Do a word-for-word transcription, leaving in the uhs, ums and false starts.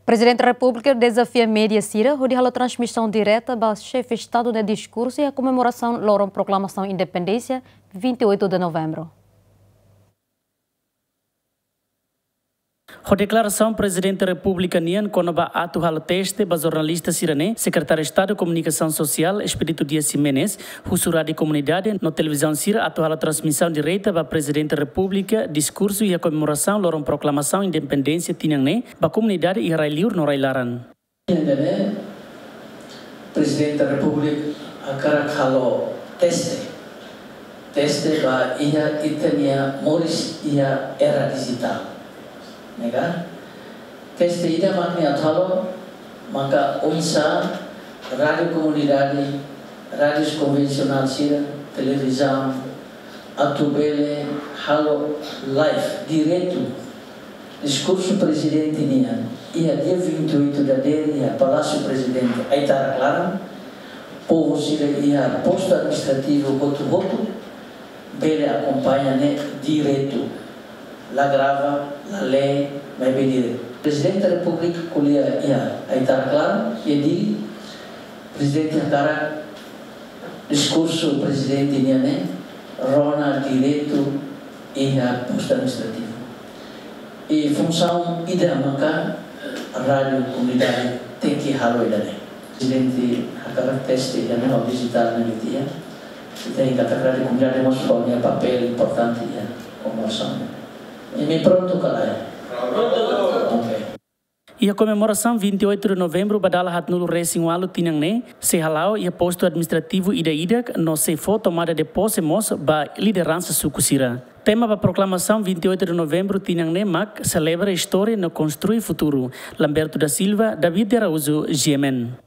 Prezidente Repúblika dezafia média sira hodi halo transmisaun direta ba Xefe Estadu nia diskursu iha komemorasaun loron proklamasaun independénsia, vinte e oito de novembro. Ho deklarasaun Prezidente Repúblika nian kona-ba atu halo teste ba jornalista sira-ne'e, Sekretáriu Estadu Komunikasaun Sosiál, Expedito Dias Ximenes, husu rádiu komunidade no televizaun sira atu halo transmisaun direta ba Prezidente Repúblika diskursu iha komemorasaun loron proklamasaun independénsia tinan ne'e ba komunidade iha rai-liur no rai-laran. Ida-ne'e, Prezidente Repúblika hakarak halo teste. Teste ba iha ita-nia moris iha era dijitál. Ne'e ka? Teste ida mak nia atu halo, maka oinsá rádiu komunidade, rádiu konvensionál sira, televizaun, atu bele halo live, diretu, diskursu Prezidente nian, iha dia vinte e oito dadeer, iha Palásiu Prezidente, Aitarak laran, povu sira iha postu administrativu hotu-hotu, bele akompaña ne'e diretu, la grava, la lee, maibé diretu. Prezidente Repúblika ko'alia iha Aitarak laran, iha Dili, Prezidente hakarak diskursu Prezidente nian ne'e rona diretu iha postu administrativu. I funsaun ida maka rádiu komunidade tenke halo ida-ne'e. Prezidente hakarak teste ida-ne'e ho dijitál ne'ebé iha. Ita hatene katak rádiu komunidade mós ho nia papél importante iha komemorasaun. Imi prontu ka lae? Prontu. Oke. Iha komemorasaun vinte e oito de novembro ba dala haatnulu resin ualu tinan ne'e, sei hala'o iha postu administrativu ida-idak no sei fó tomada de pose mós ba lideransa suku sira. Tema ba proklamasaun vinte e oito de novembro tinan ne'e mak Selebra Istória no Konstrui Futuru. Lamberto da Silva, David de Araújo, G M N.